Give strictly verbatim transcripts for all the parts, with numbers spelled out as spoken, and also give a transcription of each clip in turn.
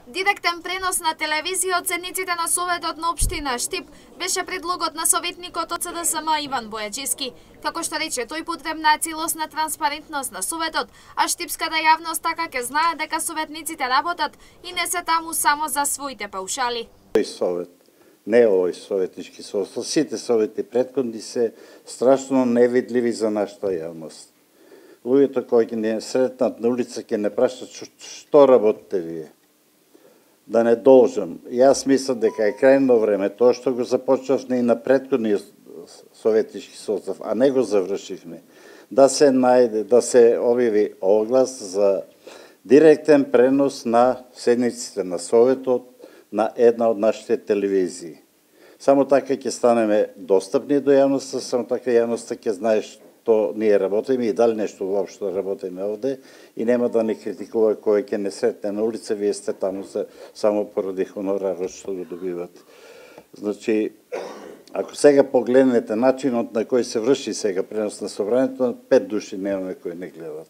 Директен пренос на телевизија од седниците на Советот на општина Штип беше предлогот на советникот од С Д С М Иван Бојаджиски. Како што рече, тој потребна е целосна транспарентност на Советот, а штипската јавност така ќе знае дека советниците работат и не се таму само за своите паушали. Тој совет, не овој советнички совет, сите совети претходни се страшно невидливи за нашата јавност. Луѓето кои ќе не сретнат на улица ќе не прашаат што работите вие. Да не должам. Јас мислам дека е крајно време тоа што го започнавме и на претходниот советнички состав, а не го завршивме, да се најде, да се објави оглас за директен пренос на седниците на Советот на една од нашите телевизии. Само така ќе станеме достапни до јавноста, само така јавноста ќе знае што ние работиме и дали нешто воопшто работиме овде и нема да не критикува кој ќе не сретне на улица, вие сте таму за, само поради хонорарот што го добивате. Значи, ако сега погледнете начинот на кој се врши сега пренос на собранието, пет души немаме кои не гледат.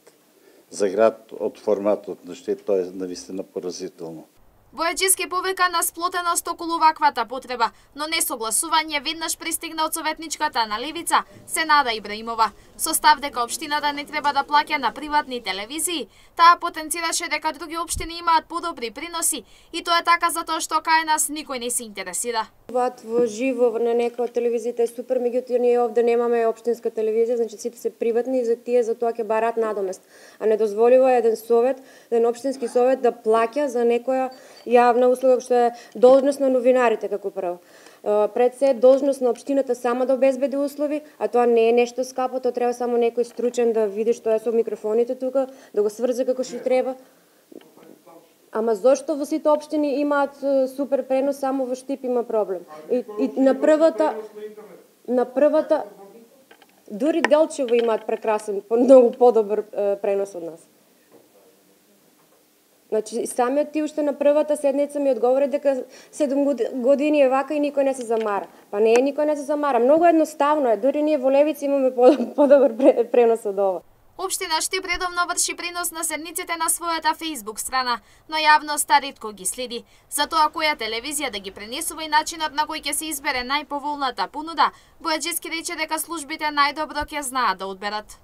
За град од форматот на што тоа е навистина поразително. Бојаджиски повика на сплотеност околу ваквата потреба, но несогласување веднаш пристигна од советничката на левица Сенада Ибраимова. Со став дека општината не треба да плаќа на приватни телевизии, таа потенцираше дека други општини имаат подобри приноси и тоа е така затоа што кај нас никој не се интересира. Ват во живо на некоја од телевизиите е супер, меѓутоа ние овде немаме општинска телевизија, значи сите се приватни и за тие за тоа ќе бараат надомест. А не дозволува еден совет, еден општински совет да плаќа за некоја јавна услуга што е должност на новинарите како прво. Пред се должност на општината сама да обезбеди услови, а тоа не е нешто скапо, тоа треба само некој стручен да види што е со микрофоните тука, да го сврзе како што треба. Ама зошто во сите општини имаат супер пренос, само во Штип има проблем? И, и на првата на првата дури Делчево имаат прекрасен, многу подобар пренос од нас. Значи, самиот ти уште на првата седница ми одговори дека седум години е вака и никој не се замара. Па не е, никој не се замара. Многу едноставно е, дури ние во Левица имаме подобар пренос од ова. Општина Штип редовно врши пренос на седниците на својата Facebook страна, но јавноста ретко ги следи. Затоа која телевизија да ги пренесува и начинот на кој ќе се избере најповолната понуда, Бојаджиски рече дека службите најдобро ќе знаат да одберат.